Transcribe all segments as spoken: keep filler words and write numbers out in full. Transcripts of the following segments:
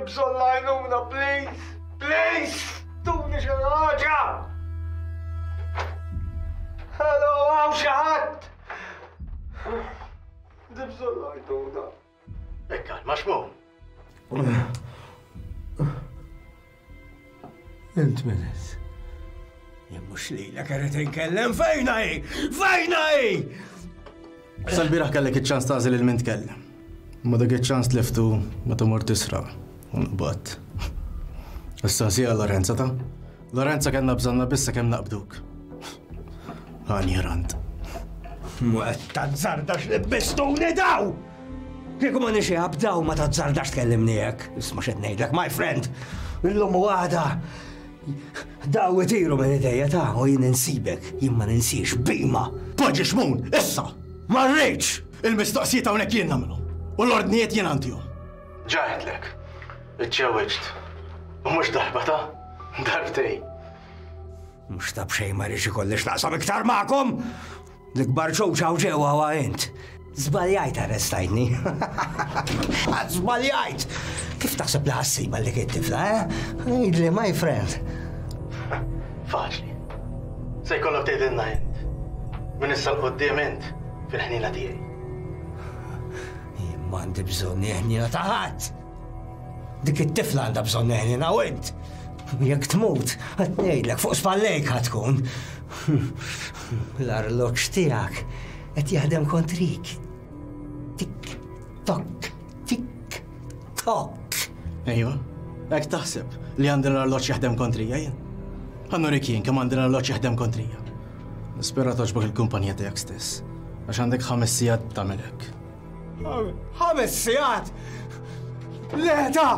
bżonn l-għajnuna, please! Please! Tuni xi ħaġa! Hello, hawn xi ħadd! Għandi bżonn l-għajnuna. Ikkalma, Xmun. Int min int? Jien mhux lilek irid inkellem, fejna hi? Fejna hi? Sal-bieraħ kellek iċ-ċans tagħżel lil min tkellem. Ma dak iċ-ċans tliftu meta mort tisraq u nqbadt. Issa sija Lorenza ta' Lorenza kellna bżonna biss sakemm naqbduk. Għani rant. Mu qed tazzardax li bistuni daw! Kieku ma nixi għabdaw ma tazzardax tkellimni hekk. Isma' x'qed ngħidlek, my friend. Illum u għada daw itiru minn idejja ta' u jien insibek, jien ma ninsiex bima. Poġġi Xmun, issa! Ma rridx! Il-mistoqsijiet hawnhekk jien nagħmlu u l-ordnijiet jien għandihom. Ġa għedtlek, iġġewwiġt. U mhux darba ta' darbtej. Mhux ta' b'xejn ma rridx ikolli x'naqsam iktar magħkom! L-ikbar ċuċ hawn ġewwa huwa int. Żbaljajt arrestajtni. Żbaljajt! Kif taħseb li ħassiba li kien tifla, eh? Għidli, my friend. Faċli. Se jkollok tgħidilna int. Minn issa 'l quddiem int fil-ħnina tiegħi. Jien m'għandi bżonn ħnina ta' ħadd. Dik it-tifla għandha bżonn ħnina u int. Jekk tmut, qed ngħidlek fuq spallejk ħa tkun. L-arloġġ tiegħek qed jaħdem kontrik. Tik tok, tik tok. Ejwa, hekk taħseb li għandi l-arloġġ jaħdem kontrija jien. Ħa nurik jien kemm għandi l-arloġġ jaħdem kontrija. Nispera togħġbok il-kumpanija tiegħek stess, għax għandek ħames sigħat tagħmel hekk. Ħames sigħat? Le ta,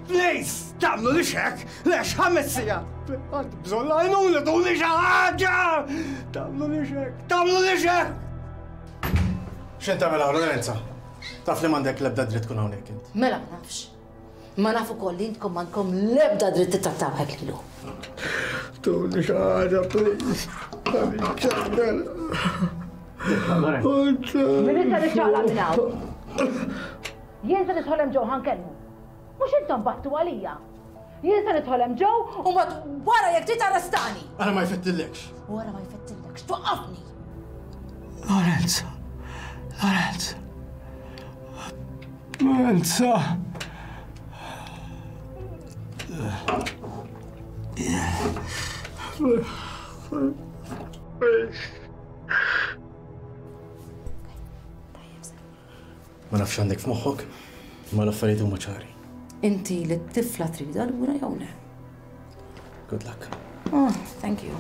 please, tagħmlulix hekk, lex ħames sigħat. Għandi bżonn l-għajnuna, tuni xi ħaġa! Tagħmlulix hekk, tagħmlulix hekk! X'int tagħmel hawn, Lorenza? Taf li m'għandek l-ebda dritt tkun hawnhekk int. Mela ma nafx. Ma naf ukoll li intkom m'għandkom l-ebda dritt tittrattaw hekk lilu. Tuni xi ħaġa, please. Min issa niċċaqlaq minn hawn. Jien se nidħol hemm ġew ħa nkellmu. Mhux intom battu għalija. Jien se nidħol hemm ġew u mbagħad wara jekk trid arrestani. Ara ma jfettillekx. Wara ma jfettillekx, twaqqafni. Lorenzo, Lorenzo. Lorenzo. Ma nafx għandek f'moħħok, ma l-affarijiet huma ċari. Inti li t-tifla tridha lura jew le? Good luck. Oh, thank you.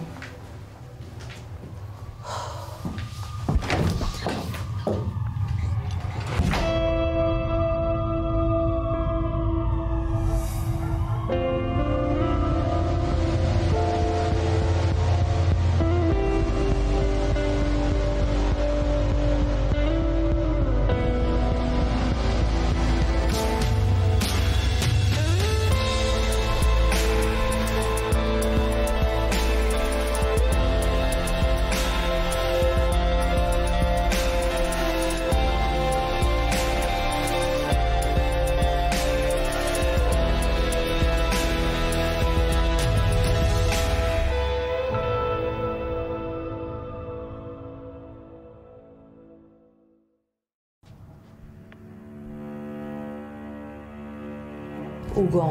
Ugo,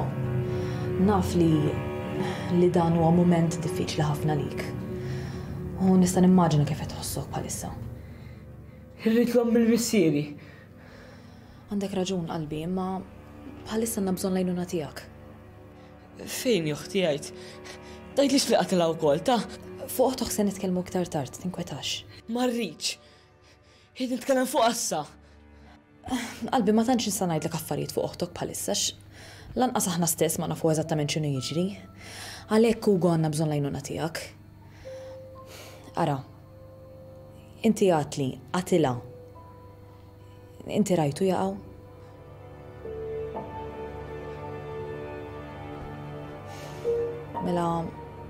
naf li li dan huwa mument diffiċli ħafna lik. U nista' nimmaġina kif qed tħossok bħalissa. Irrid l-omm il-missieri. Għandek raġun qalbi, imma bħalissa għandna bżonn l-għajnuna tiegħek. Fejn oħti għid? Tgħidlix li qatilha wkoll, ta? Fuq oħtok se nitkellmu iktar tard, tinkwetax. Ma rridx. Irrid nitkellem fuq issa. Qalbi ma tantx nista' ngħidlek affarijiet fuq oħtok bħalissa lanqas aħna stess ma nafu eżattament x'inhu jiġri. Għalhekk Ugo għandna bżonn l-għajnuna tiegħek. Ara, inti għedtli, qatilha. Inti rajtu jaqgħu? Mela,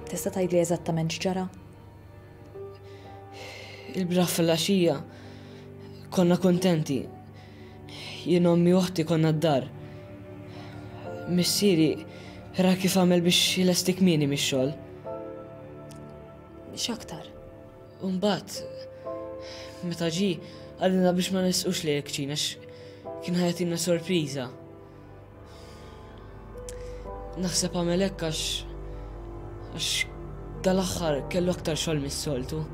tista' tgħidli eżattament x'ġara? Il-bieraħ fil-għaxija konna kontenti. Jien ommi u oħti konna d-dar. Missieri ra kif għamel biex jlesti kmieni mix-xogħol. X'aktar? U mbagħad meta ġie qalilna biex ma nisqux lejn il-kċina għax kien ħa jagħtina sorpriża. Naħseb għamel hekk għax għax dal-aħħar kellu aktar xogħol mis-soltu.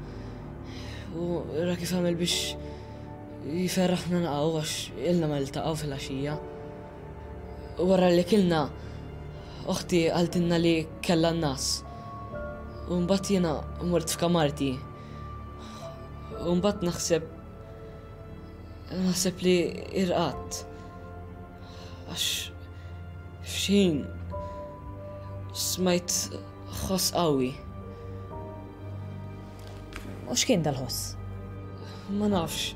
U ra kif għamel biex jiferraħna naqgħu għax ilna ma niltaqgħu fil-għaxija. Wara li kilna, oħti qaltilna li kellha n-nas. U mbagħad jiena mort f'kamarti. U mbagħad naħseb naħseb li irqadt. Għax f'xejn smajt ħoss qawwi. U x'kien dal-ħoss? Ma nafx.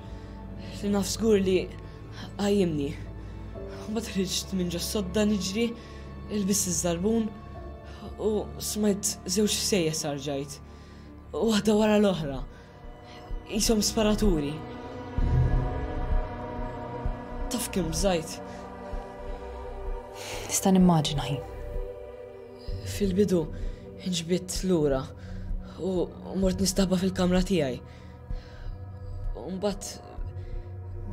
Li naf żgur li qajjimni. Mbagħad ħriġt minn ġo sodda niġri, ilbist iż-żarbun u smajt żewġ sejjes arġajt. Waħda wara l-oħra. Qishom sparaturi. Taf kemm bżajt. Nista' nimmaġina ħin. Fil-bidu nġbidt lura u mort nistaħba fil-kamra tiegħi. U mbagħad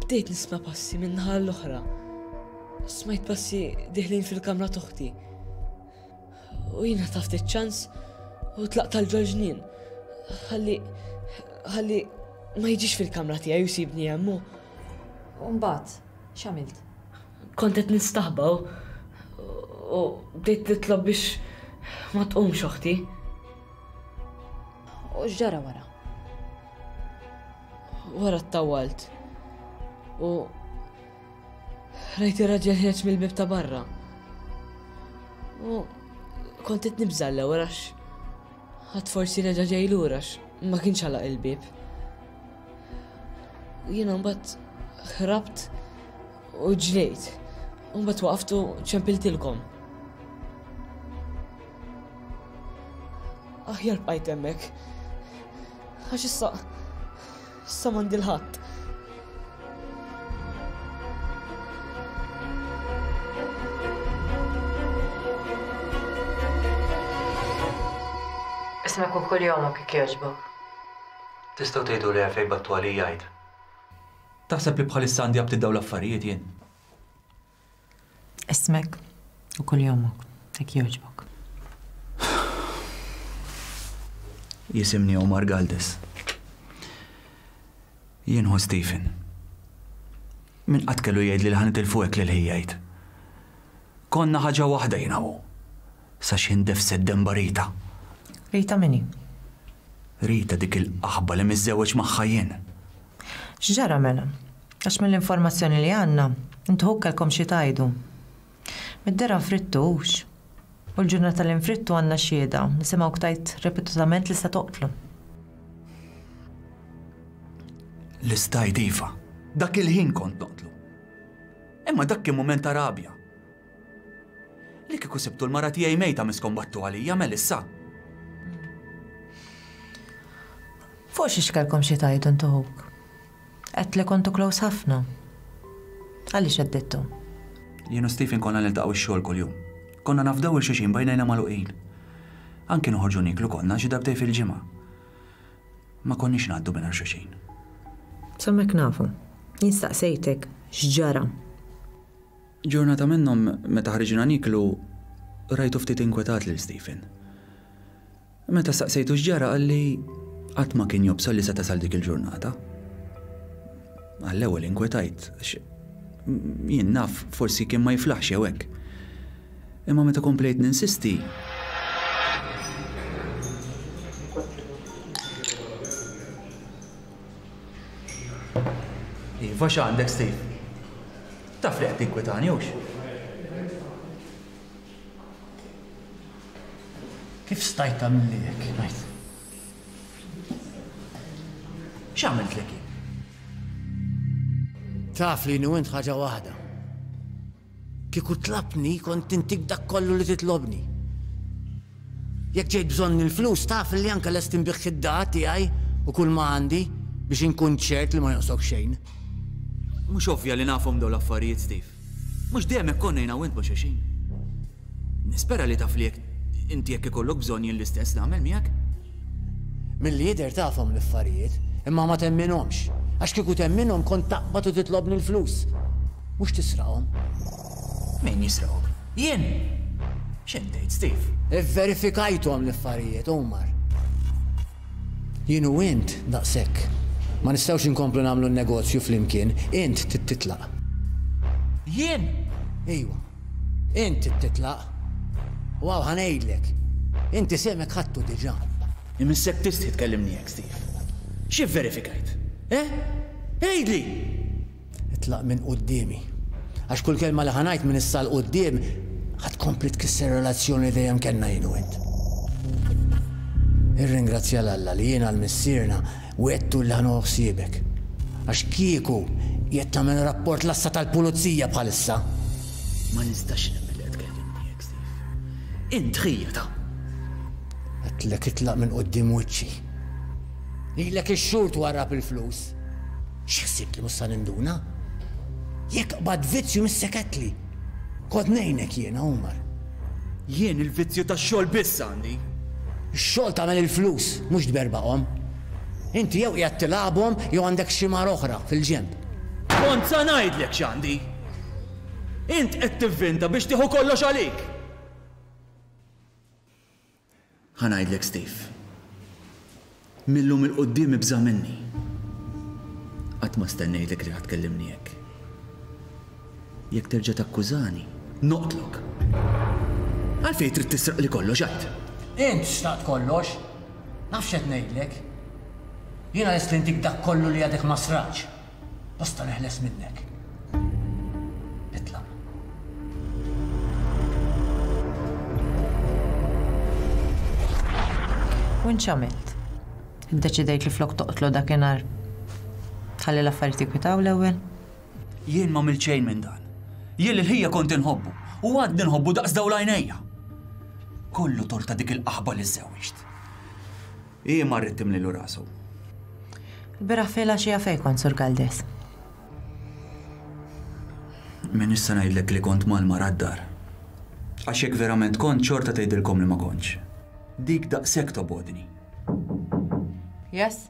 bdejt nisma' passi minn naħa l-oħra. Smajt passi diħlin fil-kamra t'oħti. U jiena taft iċ-ċans u tlaqt għal ġol-ġnien. Ħalli ħalli ma jiġix fil-kamra tiegħi u jsibni hemm. U mbagħad x'għamilt? Kont qed nistaħba u u bdejt nitlob biex ma tqumx oħti. U x'ġara wara? Wara ttawwalt. U rajt ir-raġel ħiereġ mill-bieb ta' barra. U kont qed nibża' l-ewwel għax ħadd forsi reġa' ġej lura għax ma kienx għalaq il-bieb. U jiena mbagħad ħrabt u ġrejt. U mbagħad waqaft u ċempiltilkom. Aħjar bqajt hemmhekk. Għax issa issa m'għandi l-ħadd. Ismek u kuljomok jekk jogħġbok. Tistgħu tgħidu li għalfejn battu għalija jgħid. Taħseb li bħalissa għandi aptit dawn l-affarijiet jien? Ismek u kuljomok jekk jogħġbok. Jisimni Omar Galdes. Jien hu Stephen. Min qatt kellu jgħid li ħa nitilfu hekk lil ħija jgħid. Konna ħaġa waħda jiena hu. Sa xi ndefset demba Rita. Rita min hi? Rita dik il-qaħba li miżżewweġ magħha jien. X'ġara mela? Għax mill-informazzjoni li għandna, intu ħuk kellkom xi tgħidu. Mid-dera nfrittu hux. U l-ġurnata li nfrittu għandna xhieda, nisimgħu tajt ripetutament li se toqtlu. Li stajt iva, dak il-ħin kont noqtlu. Imma dak kien mument ta' rabja. Li kieku sibtu l-mara tiegħi mejta miskom battu għalija mel issa. Fuq xiex kellkom xi tgħidu intu ħuk? Għedt li kontu close ħafna. Għaliex għeddittu? Jien u Stephen konna niltaqgħu x-xogħol kuljum. Konna nafdaw il-xulxin bajnejna magħluqin. Anki noħorġu nieklu konna xi darbtejn fil-ġimgħa. Ma konniex ngħaddu mingħajr xulxin. Sammek nafu. Jien staqsejtek x'ġara. Ġurnata minnhom meta ħriġna nieklu rajtu ftit inkwetat lil Stephen. Meta staqsejtu x'ġara qalli qatt ma kien jobsol li se tasal dik il-ġurnata. Għall-ewwel inkwetajt għax jien naf forsi kien ma jiflaħx jew hekk. Imma meta komplejt ninsisti, Iva x'għandek Steve? Taf li qed tinkwetani hux? Kif stajt tagħmilli hekk, ngħid? X'għamiltlek jien? Taf li jien u int ħaġa waħda. Kieku tlabni kont intik dak kollu li titlobni. Jekk ġejt bżonn il-flus taf li anke lest inbigħ id-dar tiegħi u kull ma għandi biex inkun ċert li ma jonqsok xejn. Mhux ovvja li nafhom dawn l-affarijiet, Steve. Mhux dejjem hekk konna jiena u int ma' xulxin. Nispera li taf li jekk inti jekk ikollok bżonn jien l-istess nagħmel miegħek. Milli jidher tafhom l-affarijiet, imma ma temminhomx. Għax kieku temminhom kont taqbad u titlobni l-flus. Mhux tisraqhom. Min jisraqhom? Jien! X'int tgħid, Steve? Ivverifikajthom l-affarijiet, Omar. Jien u int daqshekk. Ma nistgħux inkomplu nagħmlu n-negozju flimkien, int trid titlaq. Jien? Ejwa. Int trid titlaq. U hawn ħa ngħidlek. Inti semek ħadtu diġà. Imissek tistħi tkellimni hekk, Steve. Xi vverifikajt? Eh? Għidli! Itlaq minn quddiemi. Għax kull kelma li ħa ngħid minn issa 'l quddiem ħa tkompli tkisser relazzjoni li dejjem kellna jien u int. Irringrazzja 'l Alla li jiena l-missierna wegħdtu li ħa nieħu ħsiebek. Għax kieku qiegħed tagħmel rapport l-għassa tal-pulizija bħalissa. Ma nistax nemmen li qed tkellimni hekk, Steve. Int ħija ta'. Għedtlek itlaq minn quddiem wiċċi. Ilek ix-xhur twarrab il-flus. X'ħsibt li mhux sa ninduna? Jekk qbad vizzju misseketli. Kont ngħinek jiena, Omar. Jien il-vizzju tax-xogħol biss għandi. Ix-xogħol tagħmel il-flus, mhux tberbaqhom. Inti jew qiegħed tilgħabhom jew għandek xi mara oħra fil-ġenb. Kont sa ngħidlek x'għandi. Int qed tivvinta biex tieħu kollox għalik. Ħa ngħidlek, Steve. Millum il-quddiem ibża' minni. Qatt ma stennejtlek li ħa tkellimni hekk. Jekk terġa' takkużani, noqtlok. Għalfejn trid tisraq li kollox għad? Int xtaqt kollox. Naf x'qed ngħidlek. Jiena lest li ntik dak kollu li għadek ma sraqx. Basta neħles minnek. Itlaq. U int x'għamilt? Iddeċidejt li flok toqtlu dakinhar tħalli l-affarijiet jikwitaw l-ewwel? Jien ma għamilt xejn minn dan. Jien lil ħija kont inħobbu u għadni nħobbu daqs dawn l-għajnejja. Kollu torta dik il-qaħba li żżewwiġt. Hi marret timlilu rasu. Il-bieraħ filgħaxija fejn kont, Sur Galdes? Min issa ngħidlek li kont mal-mara d-dar. Għax jekk verament kont xorta tgħidilkom li ma kontx. Dik daqshekk tobodni. Yes?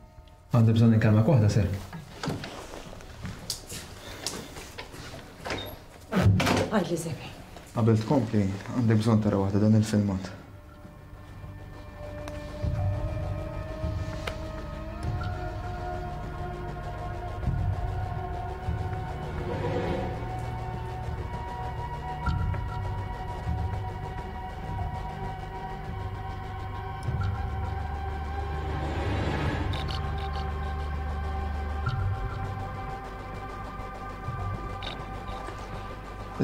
Għandi bżonn inkellmek waħda, sir. Għidli, Zeki. Qabel tkompli, għandek bżonn tara waħda dan il-filmat.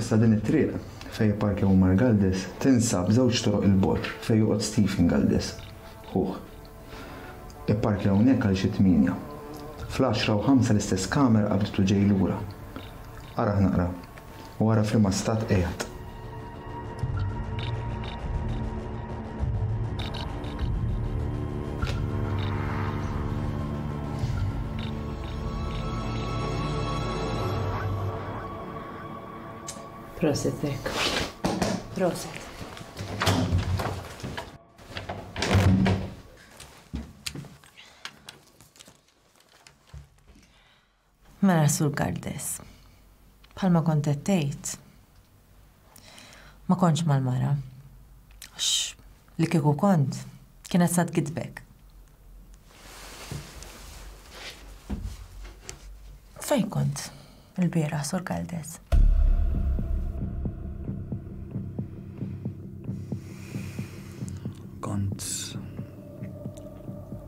Issa din it-triq fejn parkja Omar Galdes tinsab żewġ toroq il-bogħod fejn joqgħod Stephen Galdes, ħuh. Ipparkja hawnhekk għal xi tmienja. Fl-għaxra u ħamsa l-istess kamera qabditu ġej lura. Arah naqra u ara f'liema stat qiegħed. Prosit, Zek. Prosit. Mela, Sur Galdes, bħalma kont qed tgħid, ma kontx mal-mara. Għax li kieku kont, kienet sa tgidbek. Fejn kont il-bieraħ, Sur Galdes? Kont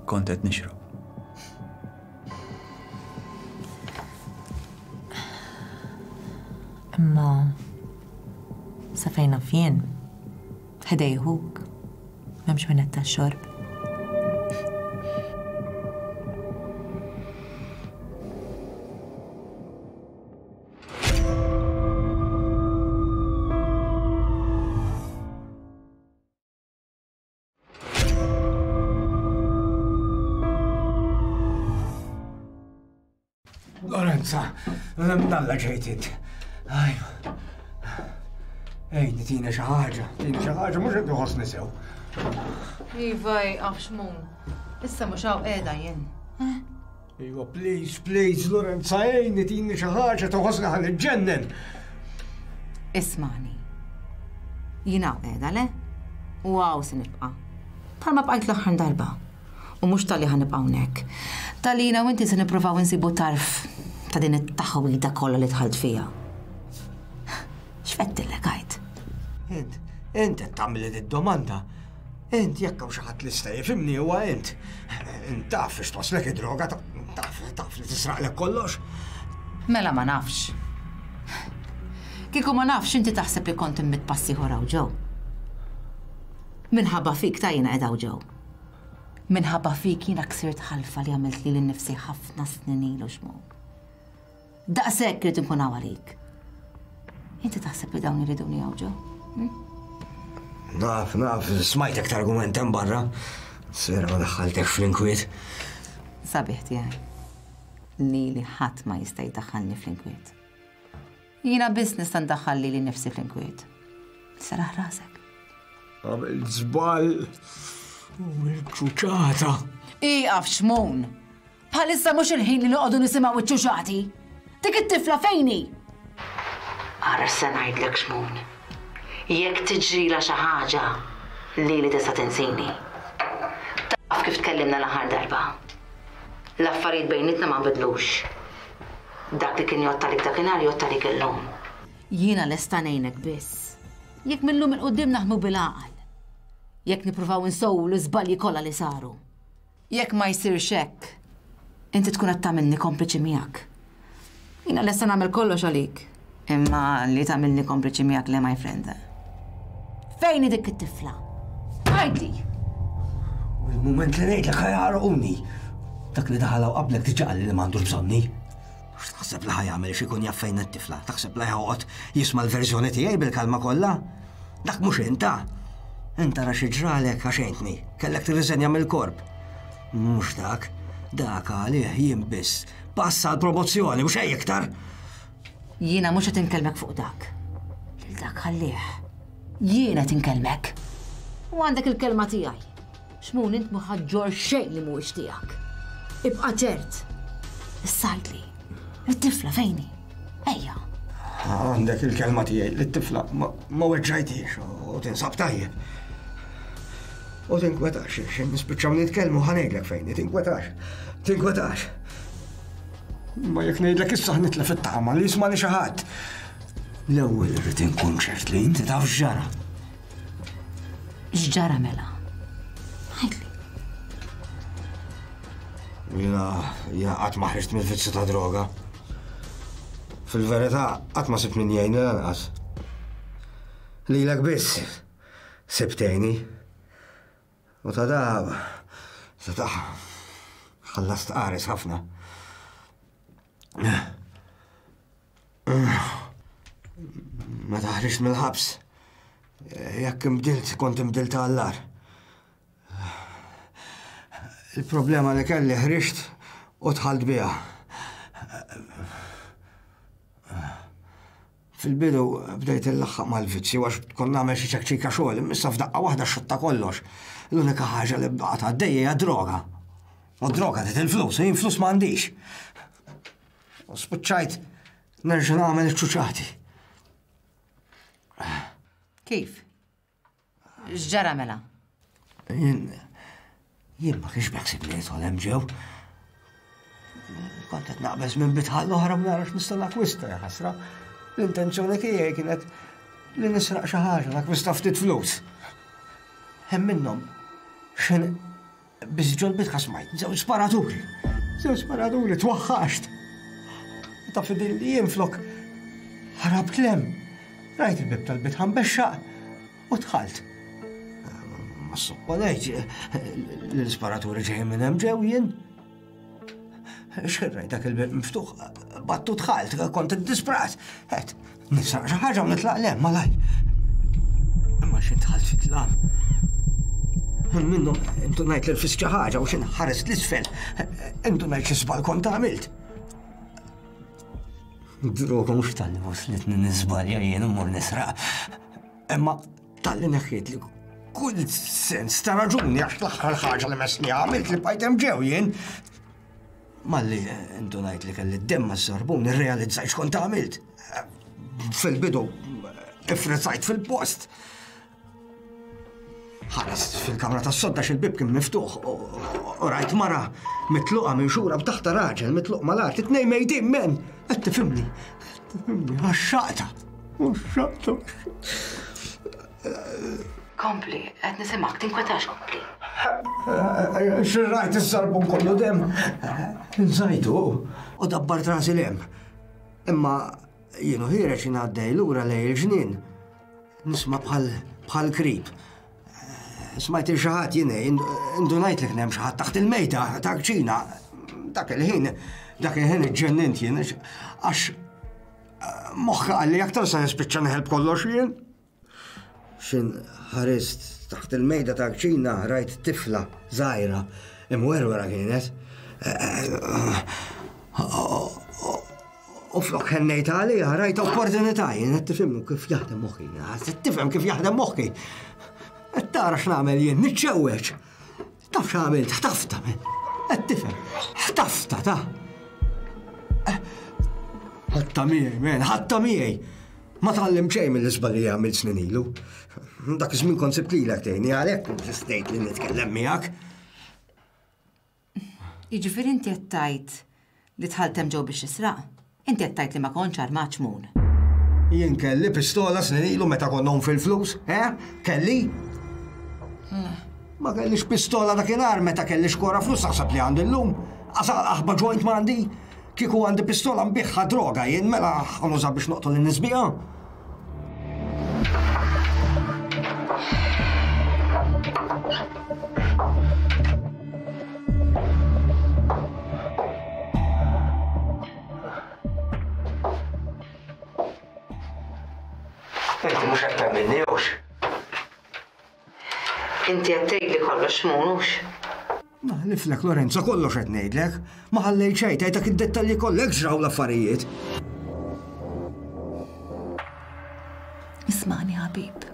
kont qed nixrob. Imma sa fejn naf jien, ħdejhuk, m'hemmx min qed tax-xorb. Lorenza, mnalla ġejt int. Ejni, tina xi ħaġa, tina xi ħaġa, mhux qed inħossni sew. Iva, ieqaf Xmun. Issa mhux hawn qiegħda jien. Iva, please, please, Lorenza, ejni, tini xi ħaġa, toħosni ħa niġġennen. Ismani. Jien hawn qiegħda, le? U hawn se nibqa'. Bħalma bqajt l-aħħar darba. U mhux talli ħa nibqa' hawnhekk. Talli jiena u inti se nippruvaw insibu tarf ta' din it-taħwida kollha li dħalt fiha. X'fettillek għid? Int, int qed tagħmel id-domanda. Int jekk hawn xi ħadd li sta jifhimni huwa int. Int taf biex twaslek id-droga, taf taf li tisraqlek kollox. Mela ma nafx. Kieku ma nafx inti taħseb li kont immit passi ieħor hawn ġew. Minħabba fik ta' jiena qed hawn ġew. Minħabba fik jiena ksirt ħalfa li għamilt lili nnifsi ħafna snin ilu Xmun. Daqshekk irid inkun hawn għalik. Inti taħseb li dawn iriduni hawn ġew? Naf, naf, smajtek targument hemm barra. Sera ma daħħaltek fl-inkwiet. Sabiħ tiegħi. Lili ħadd ma jista' jdaħħalni fl-inkwiet. Jiena biss nista' ndaħħal lili nnifsi fl-inkwiet. Seraħ rasek. Għamilt żball u l-ċuċata. Ieqaf Xmun! Bħalissa mhux il-ħin li noqogħdu nisimgħu iċ-ċuċati. Dik it-tifla fejn hi? Ara se ngħidlek Xmun. Jekk tiġrila xi ħaġa, lili tista' tinsini. Taf kif tkellimna l-aħħar darba. L-affarijiet bejnietna ma nbidlux. Dak li kien jgħodd għalik dakinhar jgħodd għalik illum. Jiena lesta ngħinek biss. Jekk millum 'il quddiem naħdmu bil-għaqal. Jekk nippruvaw insewwu l-iżbalji kollha li saru. Jekk ma jsirx hekk, inti tkun qed tagħmilni kompliċi miegħek. Jiena lesta nagħmel kollox għalik. Imma li tagħmilni kompliċi miegħek le, my friend. Fejn hi dik it-tifla? Għidli! U l-mument li ngħidlek ħa jaħarquni. Dak li daħal hawn qablek diġà qalli li m'għandux bżonni. X'taħseb li ħa jagħmel xi jkun jaf fejn it-tifla? Taħseb li ħa joqgħod jisma' l-verżjoni tiegħi bil-kalma kollha? Dak mhux inta. Inta ra xi ġralek għax għentni. Kellek tirriżenja mill-korp. Mhux dak. Dak għalih jien biss. Passa l-promozzjoni u xejn iktar. Jiena mhux qed inkellmek fuq dak. Lil dak ħallih. Jiena qed inkellmek. U għandek il-kelma tiegħi. Xmun int ma ħa ġġorr xejn li mhuwiex tiegħek. Ibqa' ċert. Issa għidli. It-tifla fejn hi? Ejja. Għandek il-kelma tiegħi li t-tifla ma ma weġġajtix u tinsab tajjeb. U tinkwetax, x'ħin nispiċċaw nitkellmu ħa ngħidlek fejn hi, tinkwetax. Tinkwetax. Ma jekk ngħidlek issa nitlef it-tama li jismani xi ħadd. L-ewwel irrid inkun ċert li inti taf x'ġara. X'ġara mela? Għidli. Jiena jiena qatt ma ħriġt mill-vizzju ta' droga. Fil-verità qatt ma sibt min jgħinni lanqas. Lilek biss sibt tgħinni. U ta' da ta' da ħallast qares ħafna. Meta ħriġt mill-ħabs, jekk imbdilt, kont imbdilt għall-agħar. Il-problema li kelli ħriġt u dħalt biha. Fil-bidu bdejt illaħħaq mal-vizzju għax kont nagħmel xi ċekċika xogħol, imma issa f'daqqa waħda xotta kollox. L-unika ħaġa li baqgħet għaddejja hija droga. U droga trid il-flus, u jien flus m'għandix. U spiċċajt nerġa' nagħmel iċ-ċuċati. Kif? X'ġara mela? Jien jien ma kienx beħsibni nidħol hemm ġew. Kont qed naqbeż minn bitħa l-oħra ma narax nista' nakwista, ja ħasra. L-intenzjoni tiegħi kienet li nisraq xi ħaġa, nakwista ftit flus. Hemm minnhom x'in biss ġol bitħa smajt, żewġ sparaturi. Żewġ sparaturi, twaħħaxt. Ta' fidil li jien flok ħarabt lem. Rajt il-bib tal-bitħa mbexxaq u dħalt. Ma supponejt li l-isparaturi ġejjin minn hemm ġew jien. X'rajt dak il-bib miftuħ, battu dħalt, kont iddisprat. Għedt, nisraq xi ħaġa u nitlaq lem, malaj. Imma xi dħalt fit-tlam. Minnhom intu ngħid li rfist xi ħaġa u xi nħares l-isfel. Intu ngħid xi żball kont għamilt. Droga mhux talli waslitni niżbalja jien immur nisraq. Imma talli neħħiet li kull sens ta' raġuni għax l-aħħar ħaġa li messni għamilt li bqajt hemm ġew jien. Malli indunajt li kelli d-demm maż-żarbun irrealizzajt x'kont għamilt. Fil-bidu ifrizzajt fil-post. Ħarist fil-kamra tas-sodda x'il-bib kien miftuħ u rajt mara mitluqa minn xura b'taħta raġel mitluq mal-art, it-tnejn mejtin men. Qed tifhimni, qed tifhimni, għax-xaqta, għax-xaqta. Kompli, qed nisimgħek, tinkwetax kompli. Xirrajt iż-żarbun kollu dem. Nżajtu u dabbart rasi l-hemm. Imma jienu ħireġ ngħaddej lura lejn il-ġnien. Nisma' bħal bħal krib. Smajt il xi ħadd jien indunajt li kien hemm xi ħadd taħt il-mejda ta' kċina. Dak il-ħin, dak il-ħin iġġennint jien għax moħħi qalli aktar se nispiċċa neħel kollox jien. Xin ħarist taħt il-mejda ta' kċina rajt tifla żgħira imwerwera kienet. U flok ħennejt għaliha rajt opportunità jien qed tifhimni kif jaħdem moħħi. Qed tifhem kif jaħdem moħħi. Qed tara x'nagħmel jien, niċċewweġ. Taf x'għamilt, ħtafta men. Qed tifhem, ħtafta ta' ħatta miegħi men, ħatta miegħi. Ma tgħallim xejn mill-iżbalji li għamilt snin ilu. Dak iż-żmien kont sibt lilek tgħinni għalhekk insistejt li nitkellem miegħek. Jiġifieri inti qed tgħid li dħalt hemm ġew biex tisraq? Inti qed tgħid li ma kontx armat xmun. Jien kelli pistola snin ilu meta konna fil-flus, eh? Kelli? Ma kellix pistola dakinhar meta kelli xkora flus taħseb li għandi llum. Għasal aħba joint m'għandi. Kieku għandi pistola nbiħħa droga jien mela ħanuża biex noqtol in-nies biha. Inti mhux qed temminni hux. Inti qed tgħidli kollox xmun hux. Naħliflek Lorenzo kollox qed ngħidlek. Ma ħallejt xejn tgħidlek id-dettalji kollha ġraw l-affarijiet. Ismani ħabib.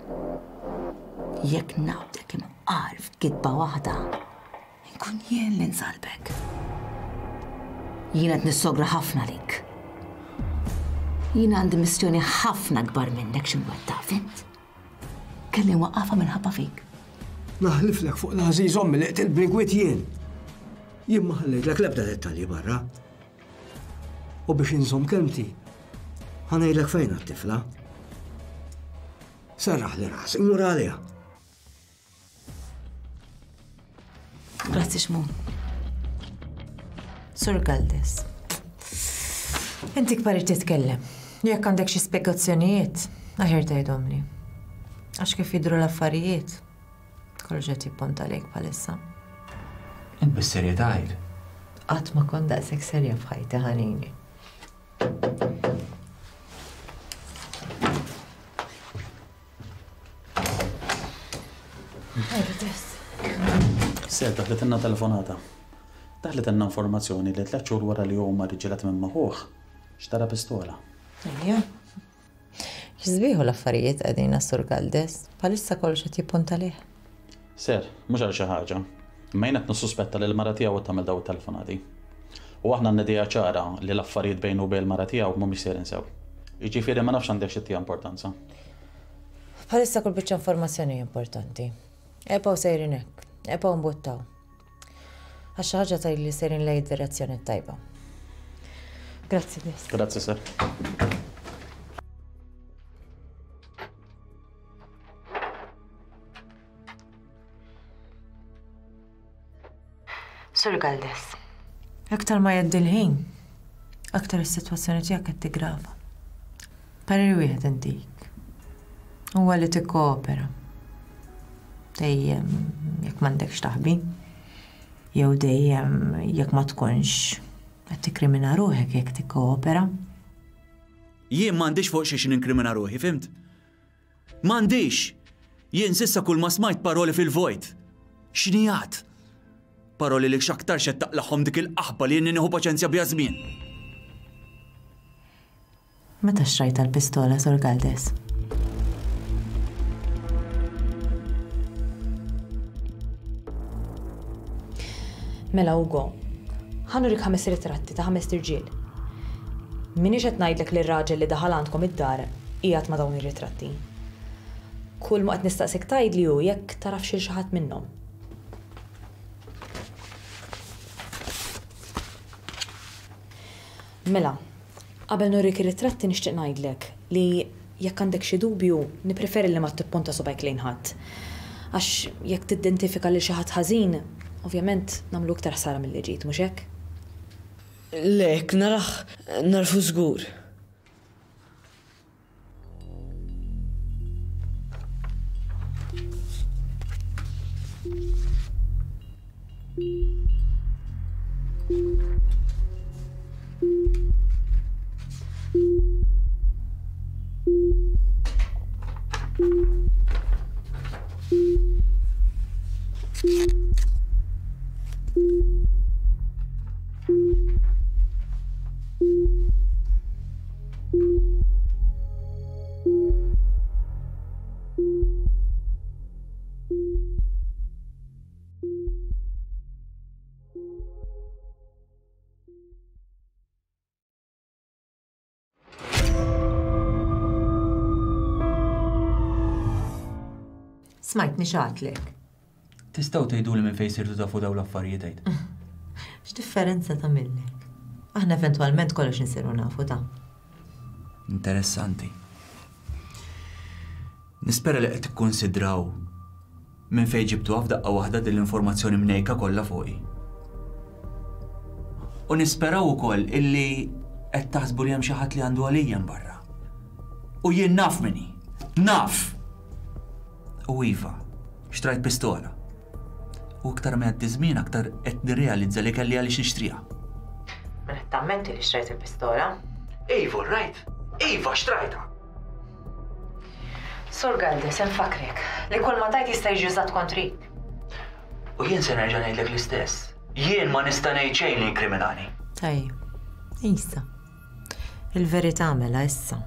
Jekk naqbdek imqar f'kitba waħda, inkun jien li nsalbek. Jien qed nissogra ħafna lik. Jien għandi missjoni ħafna kbar minnek x'imwettaq, fint? Kelli nwaqqafha minħabba fik. Naħliflek fuq l-għażiż ommi li qtilt bl-inkwiet jien. Jien ma ħallejtlek l-ebda dettalji barra. U biex inżomm kelmti, ħa ngħidlek fejn għat-tifla. Serraħ li rasi, imur għaliha. Grazzi Xmun. Sur Galdes. Inti kbar titkellem. Jekk għandek xi spjegazzjonijiet, aħjar tgħidhomli. Għax kif jidhru l-affarijiet, kollox qed jipponta lejk bħalissa. Int bis-serjetà għid. Qatt ma kont daqshekk serja f'ħajti ħanini. Ser daħlet ilna telefonata. Daħlet ilna informazzjoni li tliet xhur wara li huma riġilat minn maħuh xtara pistola. Ejja. X'sbieħu l-affarijiet qegħdin Sur Galdes, bħalissa kollox qed jippunta lih. Ser, mhux għal xi ħaġa. Imma jien qed nissuspetta li l-mara tiegħu qed tagħmel dawn it-telefonati. U aħna għandna idea ċara li l-affarijiet bejnu u bejn il-mara tiegħu mhumiex sejrin sew. Jiġifieri ma nafx għandek xi tija importanza. Bħalissa kull biċċa informazzjoni importanti. Ebgħu sejrin hekk, ebgħu mbuttaw. Għax xi ħaġa tgħid li sejrin lejn id-direzzjoni tajba. Grazzi, Des. Grazzi, sir. Sur Galdes. Aktar ma jgħaddi l-ħin, aktar is-sitwazzjoni tiegħek qed tigrava. Parir wieħed intik. Huwa li tikkoopera. Dejjem jekk m'għandekx taħbi, jew dejjem jekk ma tkunx qed tikkrimina ruħek jekk tikkoopera. Jien m'għandix fuq xiex ninkrimina ruħi, fimt? M'għandix! Jien s'issa kull ma smajt paroli fil-vojt. X'nijat? Paroli li x'aktar xed taqlaħhom dik il-qaħba li jien nieħu paċenzja biha żmien. Meta xtrajt l-pistola, Sur Galdes? Mela Ugo, ħa nurik ħames ritratti ta' ħames irġiel. M'iniex qed ngħidlek li r-raġel li daħal għandkom id-dar qiegħed ma' dawn ir-ritratti. Kull ma qed nistaqsik tgħidli hu jekk tarafx lil xi ħadd minnhom. Mela, qabel nurik ir-ritratti nixtieq ngħidlek li jekk għandek xi dubju, nippreferi li ma tipponta subgħajk lejn ħadd. Għax jekk tidentifika lil xi ħadd ħażin, ovvjament nagħmlu iktar ħsara milli ġid, mhux hekk? Le, jekk narah narfu żgur. Smajtni x'għadlek. Tistgħu tgħiduli minn fejn sirtu tafu dawn l-affarijiet għid? X'differenza tagħmillek? Aħna eventwalment kollox insiru nafu ta'. Interessanti. Nispera li qed tikkonsidraw minn fejn ġibtuha f'daqqa waħda din l-informazzjoni mnejka kollha fuqi. U nisperaw ukoll illi qed taħsbu li hemm xi ħadd li għandu għalija barra. U jien naf min hi. Naf! U iva, xtrajt pistola. U aktar ma jgħaddi żmien aktar qed nirrealizza li kelli għaliex nixtriha. Mela qed tammenti li xtrajt il-pistola? Iva, right! Iva, xtrajtha! Sur Galdes, infakrek li kull ma tajt jista' jiġi użat kontrik. U jien se nerġa' ngħidlek l-istess. Jien ma nista' ngħid xejn li jinkriminani. Tajjeb, issa. Il-verità mela issa.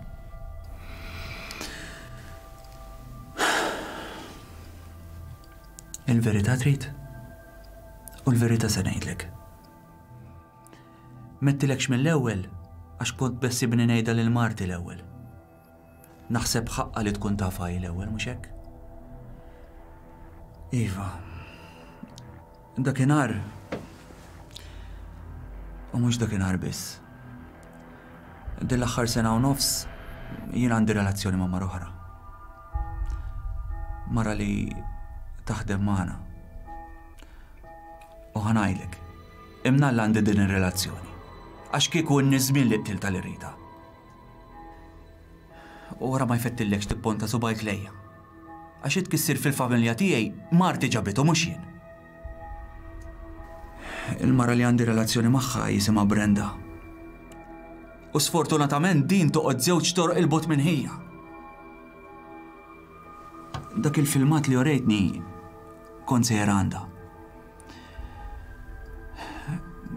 Il-verità trid? U l-verità se ngħidlek. Mettilekx mill-ewwel għax kont bessibni ngħidha lil Marti l-ewwel. Naħseb ħaqqa li tkun tafha hi l-ewwel, mhux hekk? Iva. Dakinhar u mhux dakinhar biss. Din l-aħħar sena u nofs jien għandi relazzjoni ma' mara oħra. Mara li taħdem magħna. U ħa ngħidlek, imnalla għandi din ir-relazzjoni. Għax kieku n-niżmien li qtilta li rita. U wara ma jfettillekx tipponta subgħajk lejja. Għax itkissir fil-familja tiegħi Marti ġabitu mhux jien. Il-mara li għandi relazzjoni magħha jisimha Brenda. U sfortunatament din toqgħod żewġ toroq il-bogħod minn ħija. Dak il-filmat li orejtni kont sejjer għandha.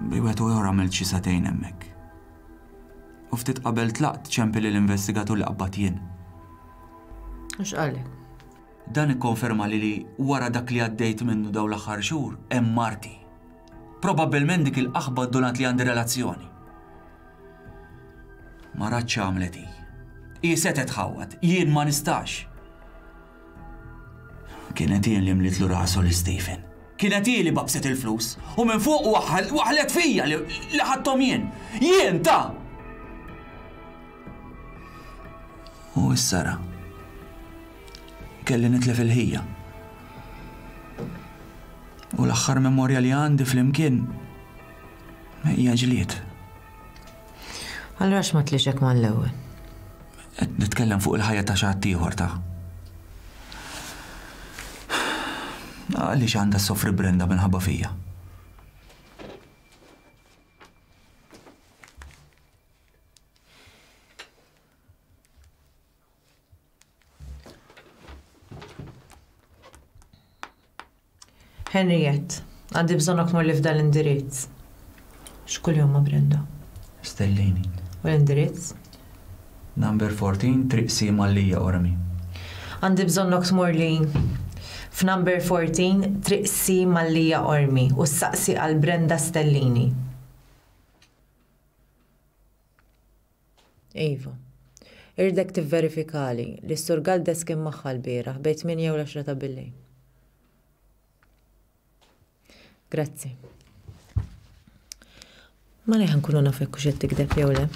Bi wieħed u ieħor għamilt xi sagħtejn hemmhekk. U ftit qabel tlaqt ċempi lill-investigatur li qabad jien. U x'qallek? Dan ikkonferma li li wara dak li għaddejt minnu dawn l-aħħar xhur hemm Marti. Probabbilment dik il-qaħba ddunat li għandi relazzjoni. Ma ratx għamlet hi. Hi setgħet tħawwad, jien ma nistax. Kienet hi li mlitlu rasu li Stephen. Kienet hi li babset il-flus u minn fuq waħlet fija li ħadthom jien. Jien ta! U issa ra. Kelli nitlef il-ħija. U l-aħħar memorja li għandi flimkien hija ġlied. Allura x'ma tlix hekk mal-ewwel? Qed nitkellem fuq il-ħajja ta' xi ħadd ieħor ta'. Għaliex għandha ssofri Brenda minħabba fija? Henriette, għandi bżonnok tmur li f'dan l-indirizz. X'kuljum ma' Brenda? Stellini. U l-indirizz? Number fourteen, Triq Sima Lija Ormi. Għandi bżonnok tmur li F'number fourteen, Triq C Mallia Qormi u ssaqsi għal Brenda Stellini. Iva, irdek tivverifikali li s-Sur Galdes kien magħha l-bieraħ bejn tmienja u l-għaxra ta' billejl. Grazzi. Ma leħ nkunu naf jekk hux qed tikdeb jew le.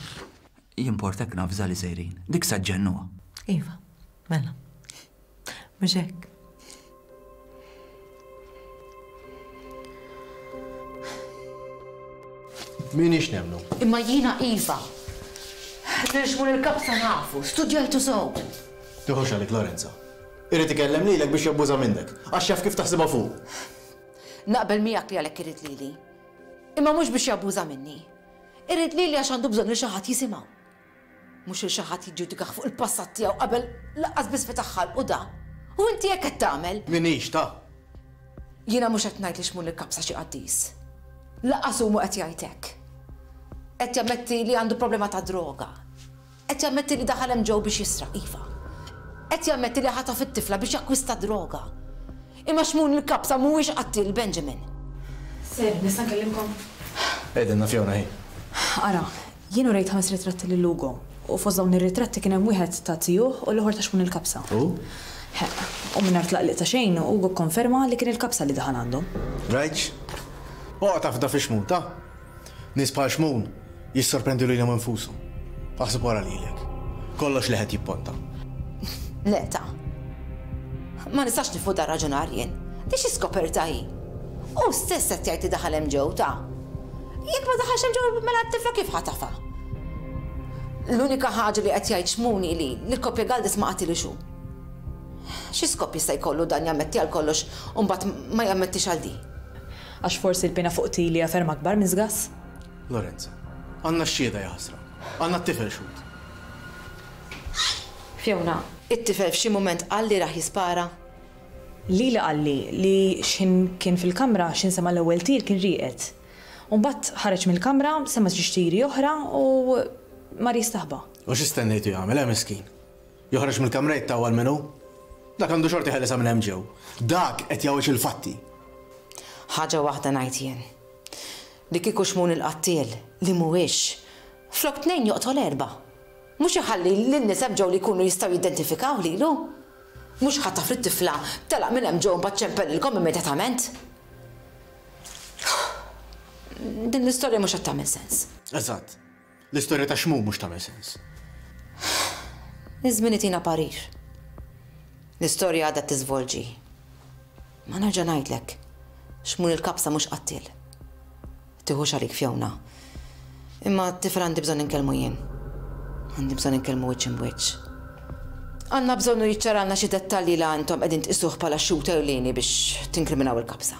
Jimportak nafża li sejrin. Dik saġġennuha. Iva, mela. Mhux hekk. Minix nemnu. Imma jiena iva. Nirxmu l-kapsa nafu, studjajtu sew. Tiħux għalik, Lorenza. Irid ikellem lilek biex jabbuża minnek, għax jaf kif taħsibha fuq. Naqbel miegħek li għalhekk irid lili. Imma mhux biex jabbuża minni. Irid lili għax għandu bżonn li xi ħadd jisimgħu. Mhux li xi ħadd jiġġudikah fuq il-passat tiegħu qabel laqqas biss fetaħ ħalqu da. U inti hekk qed tagħmel. Minix ta'. Jiena mhux qed ngħid li xmun il-kapsa xi qaddis. Laqqas hu qed jgħid hekk. Qed jammetti li għandu problema ta' droga. Qed jammetti li daħal hemm ġew biex jisraq, iva. Qed jammetti li ħataf it-tifla biex jakkwista droga. Imma xmun il-kapsa mhuwiex qattil Benjamin. Ser, nista' nkellimkom? Ejdenna Fiona hi. Ara, jien urejt ħames ritratti lil Ugo u fost dawn ir-ritratti kien hemm wieħed ta' tijuh u l-ieħor ta' xmun il-kapsa. U? U mingħajr tlaqliq ta' xejn Ugo kkonferma li kien il-kapsa li daħal għandhom. Rajtx? Oqgħod tafda fi xmun, ta'? Nies bħal xmun jissorprendu lilhom infushom. Aħseb wara lilek. Kollox li qed jipponta. Le ta'. Ma nistax nifu dar raġunar jien. Di xi skoperta hi. U stess qed jgħid li daħal hemm ġew ta'. Jekk ma daħalx hemm ġew mela t-tifla kif ħatafa? L-unika ħaġa li qed jgħid xmuni li l-koppja Galdes ma qatilix hu. Xi skop jista' jkollu dan jammetti għal kollox u mbagħad ma jammettix għal di? Għax forsi l-pena fuq tili hija ferm akbar minn żgass. Lorenza, għandna x-xhieda jaħsra. Għandna t-tifel xhud. Fiona, it-tifel f'xi mument qal li raħ jispara? Lili qalli li x'ħin kien fil-kamra x'in sema' l-ewwel tir kien rieqed. U mbagħad ħareġ mill-kamra, sema' żewġ tiri oħra u mar jistaħba. U x'istennejtu jagħmel, eh miskin? Joħroġ mill-kamra jittawwal minnu? Dak għandu xorti ħelesa minn hemm ġew. Dak qed jgħawweġ il-fatti. Ħaġa waħda ngħid jien. Li kieku xmun il-qattiel li mhuwiex, flok tnejn joqtol erba'. Mhux iħalli lin-nies hemm ġew li jkunu jistgħu jidentifikaw lilu. Mhux ħataf lit-tifla telaq minn hemm ġew mbagħad ċempellilkom immedjatament. Din l-istorja mhux qed tagħmel sens. Eżatt. L-istorja ta' xmun mhux tagħmel sens. Iż-żmien itina parir. L-istorja għadha tiżvolġi. Ma nerġa' ngħidlek, xmun il-kapsa mhux qattiel. Tiħux għalik Fiona. Imma t-tifel għandi bżonn inkellmu jien. Għandi bżonn inkellmu wiċċ imwiċċ. Għandna bżonnu jiċċaralna xi dettalji li għandhom qegħdin tqisuh bħala xhud ewlieni biex tinkriminaw il-kapsa.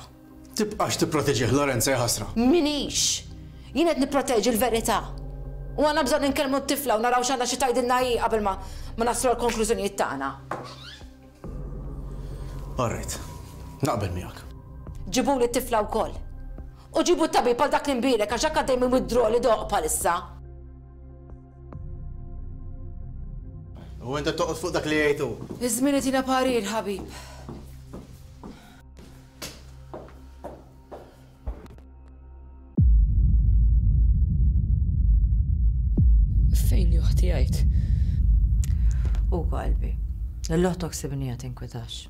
Tibqax tipproteġih Lorenza jaħasra. Minix! Jien qed nipproteġi l-verità. U għandna bżonn inkellmu t-tifla u naraw x'għandha xi tgħidilna hi qabel ma ma naslu għall-konklużjonijiet tagħna. All right. Naqbel miegħek. Ġibuli t-tifla wkoll. U ġibu t-tabib għal dak li nbierek għax hekk għaddej minn withdraw li doq bħalissa. U inti toqgħod fuq dak li jgħidu. Iż-żmien itina parir, ħabib. Fejn juħti jgħid? U qalbi, l-oħtok sibnija tinkwetax.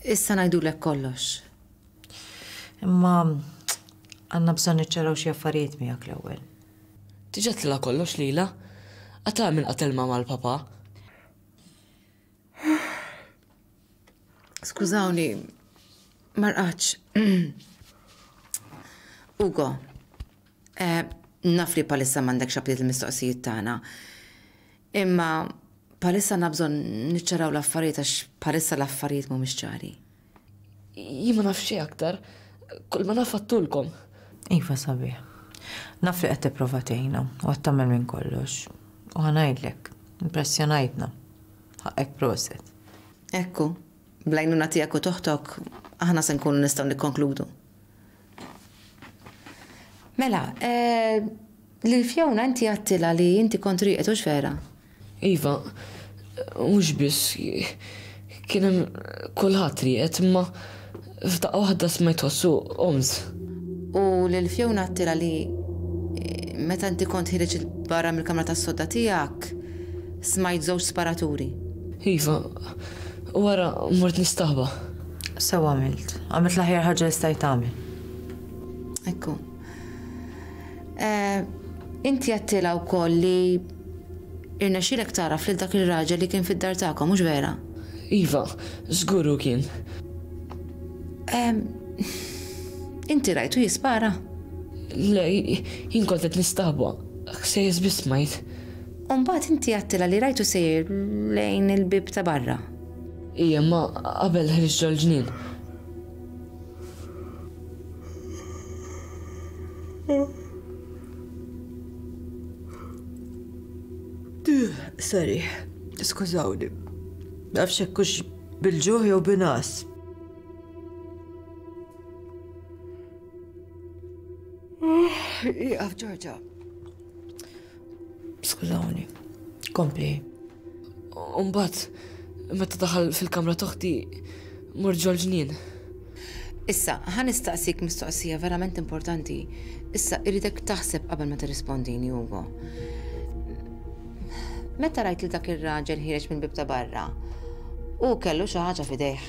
Issa ngħidulek kollox. Imma għandna bżonn niċċaraw xi affarijiet miegħek l-ewwel. Diġà tlilha kollox lilha? Qatal minn qatel mama l-papa. Skużawni, ma rqadx. Ugo, eh, naf li palissa m'għandekx aptit il-mistoqsijiet tagħna. Imma palissa għandna bżonn niċċaraw l-affarijiet għax palissa l-affarijiet mhumiex ċari. Jien ma naf xejn aktar, kull ma naf għattulkom. Iva sabiħ. Naf li qed tipprova tgħinna u qed tagħmel minn kollox. U ħa ngħidlek, impressjonajtna. Ħaqek proset. Ekku, bl-għajnuna tiegħek u toħtok, aħna se nkunu nistgħu nikkonkludu. Mela, eh, lil Fiona inti għattilha li inti kont rieqed hux vera? Iva, mhux biss, kien hemm kulħadd rieqed, imma F'daqqa waħda smajt ħossu qomt. U lil Fiona għedtilha li meta inti kont ħireġ barra mill-kamra tas-sodda tiegħek smajt żewġ sparaturi. Iva, u wara mort nistaħba. Sew għamilt. Għamilt l-aħjar ħaġa li stajt tagħmel. Ekku. Inti għedtilha wkoll li irnexxielek tagħraf lil dak ir-raġel li kien fid-dar tagħkom, mhux vera? Iva, żgur hu kien. Inti rajtu jispara? Le, jien kont qed nistaħba. Ħsejjes biss smajt. U mbagħad inti għedtilha li rajtu sejjer lejn il-bieb ta' barra. Ija, ma qabel ħriġ ġol-ġnien. Sorry, skużawni. Nafx hekk hux bil-ġuħ jew bin-ngħas. Ieqaf, Ġorġa. Skużawni. Kompli. U mbagħad, meta daħal fil-kamra t'oħti, mort ġol-ġnien. Issa, ħa nistaqsik mistoqsija verament importanti. Issa, irridek taħseb qabel ma tirrispondini, Ugo. Meta rajt li dak ir-raġel ħiereġ mill-bieb ta' barra, u kellu xi ħaġa f'idejh.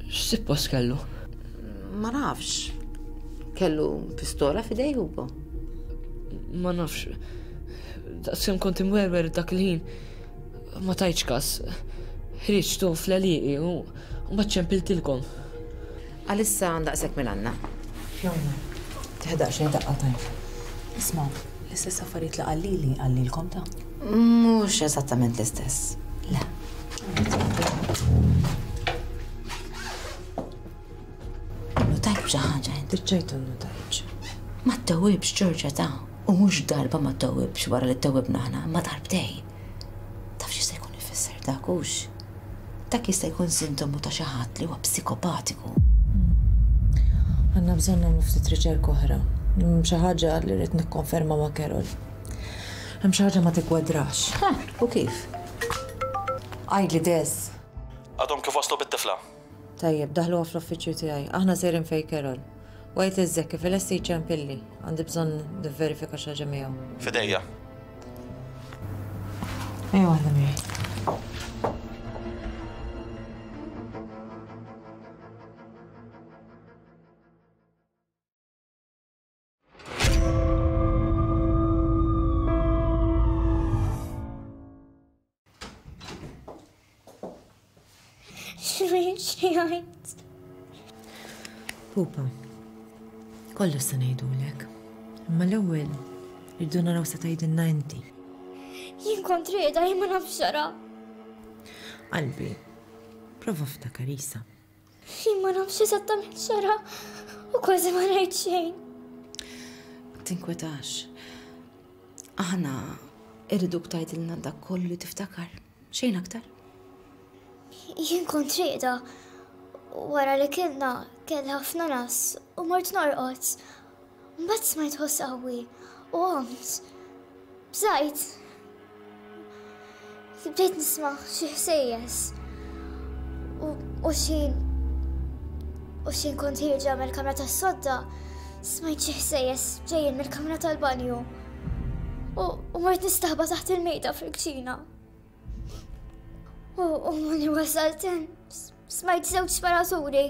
X'sippost kellu? Ma nafx. Kellu pistola f'idejh, Ugo? Ma nafx. Daqskemm kont imwerwer dak il-ħin, ma tajtx kas. Ħriġtu fl-għelieqi u mbagħad ċempiltilkom. Għalissa daqshekk minn għandna. Fiona, tieħdaq xejn daqqa tajba. Isma', l-istess affarijiet li qallili qallilkom ta'? Mhux eżattament l-istess. Le. Notajt xi ħaġa int. Diġġajtu notajt. Ma ttewwibx Ġorġa ta' u mhux darba ma ttewwibx wara li ttewwibna aħna, ma darbtej. Taf x'jista' jkun ifisser dak hux? Dak jista' jkun sintomu ta' xi ħadd li huwa psikopatiku. Għandna bżonn nagħmlu ftit riċerka oħra. Xi ħaġa li rrid nikkonferma ma' Carol. Hemm xi ħaġa ma tikkwadrax. Ha, u kif? Għidli Des. Għadhom kif waslu bit-tifla. Tajjeb, daħluha fl-uffiċċju tiegħi. Aħna sejrin fejn Carol. U għid lil Zekki fil-lesti jċempilli. Għandi bżonn nivverifika xi ħaġa miegħu. Fidejja. Ejja waħda miegħi. X'għajt? Pupa, kollox se ngħidulek. Imma l-ewwel irridu naraw se tgħidilna inti. Jien kont rieda, jien ma nafx xara. Qalbi, prova ftakar isa. Jien ma nafx eżattament xara u kważi ma ngħid xejn. Tinkwetax. Aħna irriduk tgħidilna dak kollu li tiftakar. Xejn aktar. Jien kont rieda. Wara li kilna kelli ħafna nas u mort norqod. Mbagħad smajt ħoss qawwi u qomt. Bżajt. Bdejt nisma' xi ħsejjes. U xi u xi kont ħierġa mill-kamra tas-sodda, smajt xi ħsejjes ġejjin mill-kamra tal-banju. U mort nistaħba taħt il-mejda fil-kċina. U mani wasalt hemm, smajt żewġ sparaturi.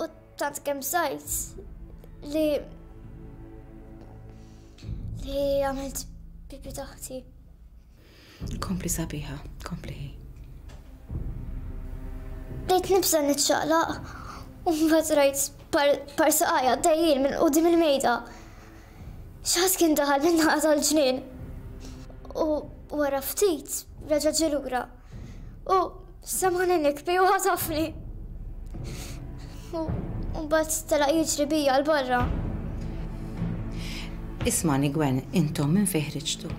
U tant kemm sajt li li għamilt pipi taħti. Kompli sabiħa, kompli. Bdejt nibża' niċċaqlaq u mbagħad rajt par saqajja dejjin minn quddiem il-mejda. Xi ħadd kien daħal minn naqa tal-ġnien. U wara ftit reġa' ġie lura. U semgħani nikbi u ħatafni. U mbagħad telaq jiġri bija 'l barra. Ismani Gwen, intom minn fejn ħriġtu?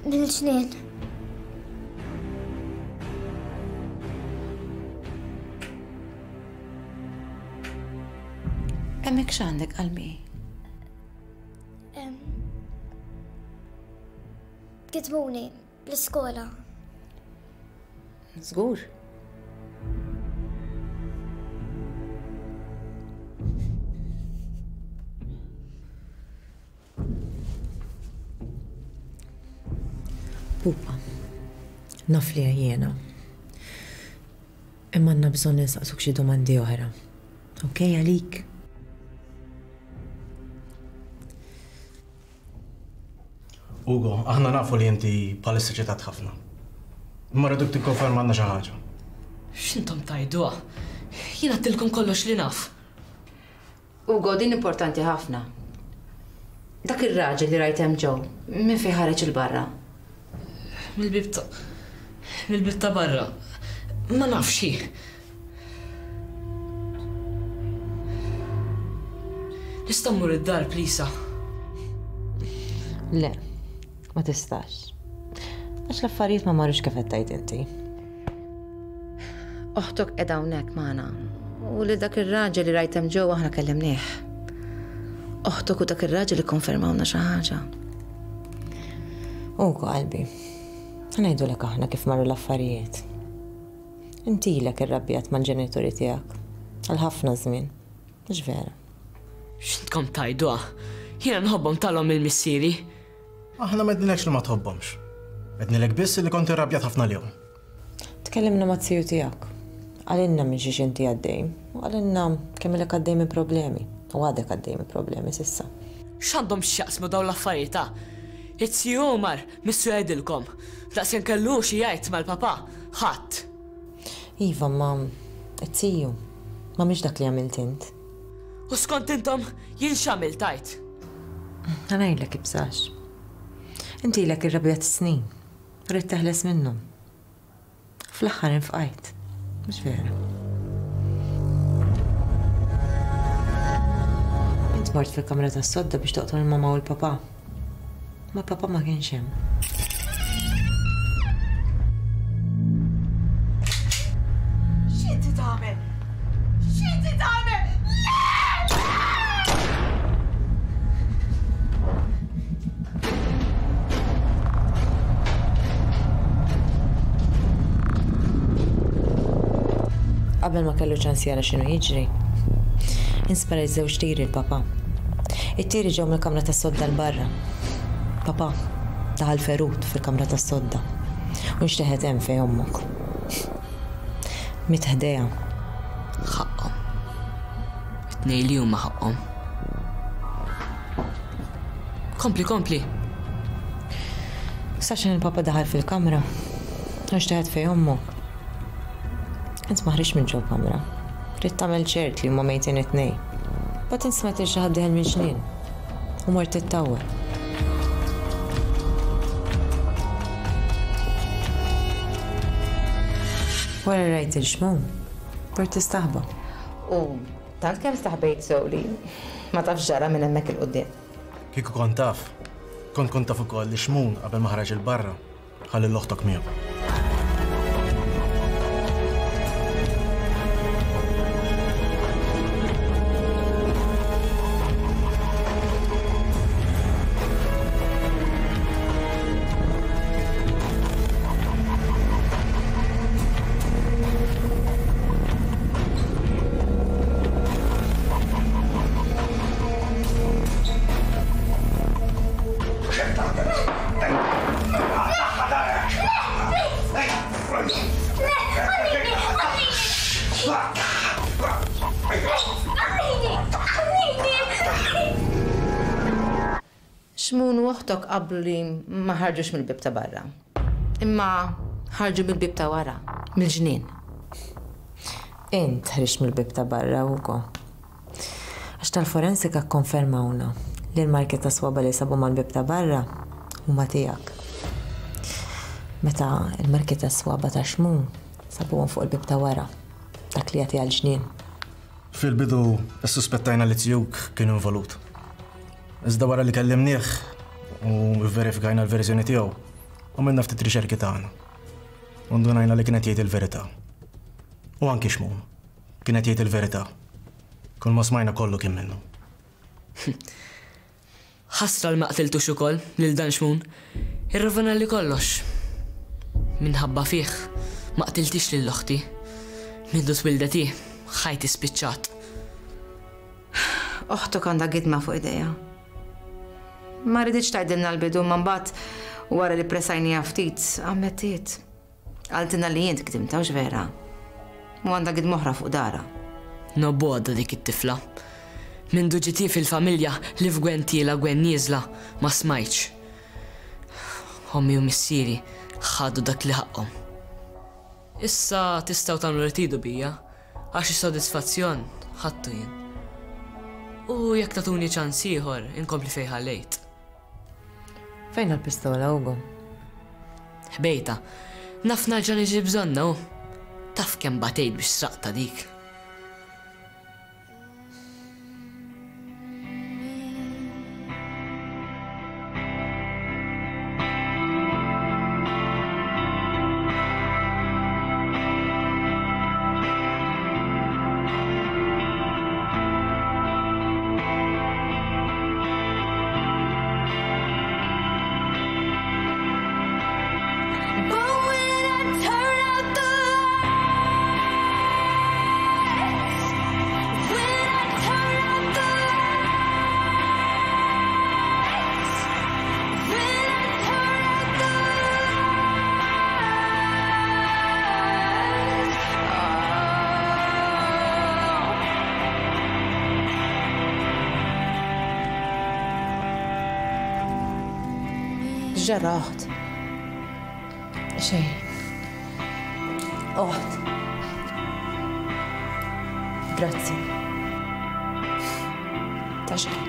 Mill-ġnien. Hemmhekk x'għandek qalbi? Kitbuni l-iskola. Żgur. Pupa, naf li għajjena. Imma għandna bżonn nistaqsuk xi domandi oħra. Okej għalik? Ugo, aħna nafu li inti bħalissa ċitat ħafna. Imma rriduk tikkonferma għandna xi ħaġa. X'intom tajduha? Jien għedtilkom kollox li naf. Ugo, din importanti ħafna. Dak ir-raġel li rajt hemm ġew, minn fejn ħareġ il-barra? Mill-bib ta' mill-bib ta' barra. Ma nafx hi. Nista' mmur id-dar, plisa. Le, ma tistax. Għax l-affarijiet ma marrux kif qed tgħid inti. Oħtok qiegħda hawnhekk magħna. U li dak ir-raġel li rajt hemm ġew aħna kellimnieh. Oħtok u dak ir-raġel ikkonfermawna xi ħaġa. Ugo qalbi, ħa ngħidulek aħna kif marru l-affarijiet. Inti ilek irrabjat mal-ġenituri tiegħek għal ħafna żmien, mhux vera? X'intkom tgħiduha? Jiena nħobbhom talhom il-missieri. Aħna ma għednilekx li ma tħobbhomx. Għednilek biss li kont irrabjat ħafna lihom. Tkellimna mat-tiju tiegħek. Qalilna minn xiex inti għaddej u qalilna kemm ilek għaddej minn problemi u għadek għaddej minn problemi s'issa. X'għandhom x'jaqsmu dawn l-affarijiet ta'? It-tiju Omar missu jgħidilkom. Daqskemm kellu xi jgħid mal-papà, ħadd. Iva, ma it-tiju, ma mhix dak li għamilt int. U skont intom jien x'għamilt tgħid? Ħa ngħidlek ibsax. Inti ilek irrabjat snin, rrid teħles minnhom. Fl-aħħar infqajt, mhux vera. Int mort fil-kamra tas-sodda biex toqtol il-mama u l-papà. Ma papà ma kienx hemm. X'inti tagħmel? X'inti tagħmel? Le! Qabel ma kellu ċans jara x'inhu jiġri, insparajt żewġ tiri l-papà. It-tiri ġew mill-kamra tas-sodda l barra. Papà daħal ferut fil-kamra tas-sodda u nxteħet hemm fejn ommok. Miet ħdejha. Ħaqhom. It-tnejn li huma ħaqhom. Kompli, kompli. Saxan il-papa daħal fil-kamra u nxteħet fejn ommok. Int ma ħriġt minn ġol-kamra. Ridt tagħmel ċert li huma mejtin it-tnejn. Mbagħad int smajt lil xi ħadd dieħel mill-ġnien u mort tittawwel. Wara rajt il-xmum, mort tistaħba. U tant kemm staħbejt sew li ma tafx ġara minn hemmhekk il-quddiem. Kieku kont taf, kont kont taf ukoll li xmun qabel ma ħareġ il-barra, ħalli l-oħtok miegħu. Xmun u oħtok qablu li ma ħarġux mill-bib ta' barra. Imma ħarġu mill-bib ta' wara, mill-ġnien. Int ħriġt mill-bib ta' barra, Ugo. Għax tal-forensika kkonfermawna li l-marki ta' swaba li sabu mal-bib ta' barra huma tiegħek. Meta l-marki ta' swaba ta' Xmun sabuhom fuq il-bib ta' wara, dak li jagħti għall-ġnien. Fil-bidu issuspettajna li tiegħek kien involut. Iżda wara li kellimnieh u verifikajna l-verżjoni tiegħu, għamilna ftit riċerki tagħna. U ndunajna li kienet jgħid il-verità. U anki Xmun kienet jgħid il-verità. Kull ma smajna kollu kien minnu. Ħasra li ma qtiltux ukoll lil dan Xmun. Irrovina li kollox. Minħabba fih ma qtiltix lil oħti. Mindu twildet hi, ħajti spiċċat. Oħtok għandha gidma fuq idejha. Ma riditx tgħidilna l-bidu, ma mbagħad U wara li pressajniha ftit, ammettiet. Qaltilna li int gdimtha, hux vera? U għandha gidma oħra fuq dara. Nobgħodha dik it-tifla. Mindu ġiet hi fil-familja li f'Gwen tiela Gwen nieżla ma smajtx. Ommi u missieri ħadu dak li ħaqhom. Issa tistgħu tagħmlu li tridu bija, għax is-sodisfazzjon ħadtu jien. U jekk tagħtuni ċans ieħor, inkompli fejn ħallejt. Fejn l-pistola, Ugo? Ħbejta. Naf nerġa' niġi bżonna u taf kemm batejt biex sraqta dik. X'ġara oħt? Xejn. Oħt. Grazzi. Ta' xejn.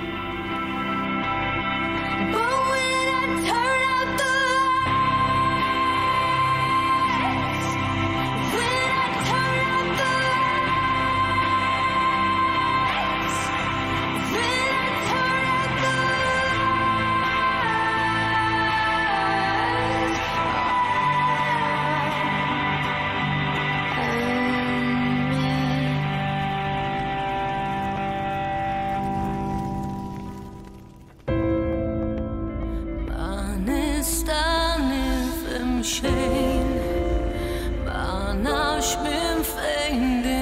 Xejn, ma nafx minn fejn.